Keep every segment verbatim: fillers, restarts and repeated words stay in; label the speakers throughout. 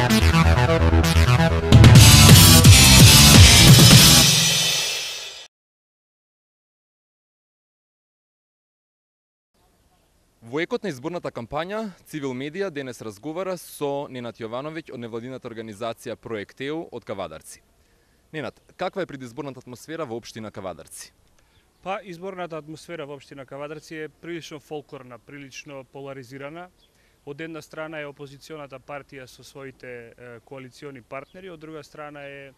Speaker 1: Во екот на изборната кампања, Цивил Медија денес разговара со Ненад Јовановиќ од невладината организација Проект Еу од Кавадарци. Ненад, каква е предизборната атмосфера во општина Кавадарци?
Speaker 2: Па, изборната атмосфера во општина Кавадарци е прилично фолклорна, прилично поларизирана. Од една страна е опозиционата партија со своите е, коалициони партнери, од друга страна е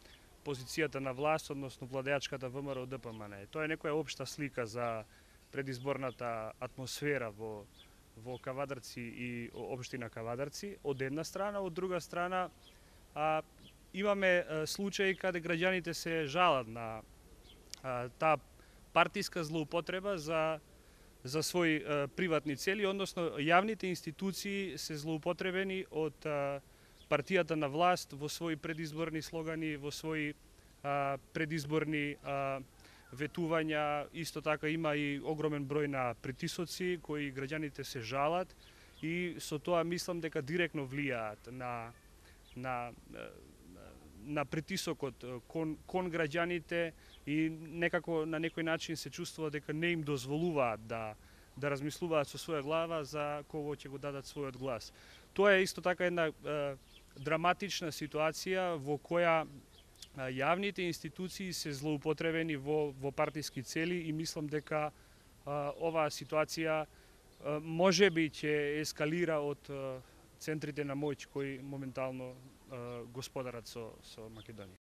Speaker 2: позицијата на власт, односно владеачката ВМРО Д П М Н. Тоа е некоја општа слика за предизборната атмосфера во во Кавадарци и општина Кавадарци од една страна, од друга страна а, имаме а, случаи каде граѓаните се жалат на а, таа партиска злоупотреба за за своји а, приватни цели, односно јавните институции се злоупотребени од а, партијата на власт во своји предизборни слогани, во своји а, предизборни а, ветувања. Исто така има и огромен број на притисоци кои граѓаните се жалат и со тоа мислам дека директно влијаат на на на притисокот кон кон граѓаните и некако на некој начин се чувствува дека не им дозволуваат да да размислуваат со своја глава за кого ќе го дадат својот глас. Тоа е исто така една е, драматична ситуација во која јавните институции се злоупотребени во во партиски цели и мислам дека а, оваа ситуација а, можеби ќе ескалира од а, центрите на моќ кои моментално а, господарат со со Македонија.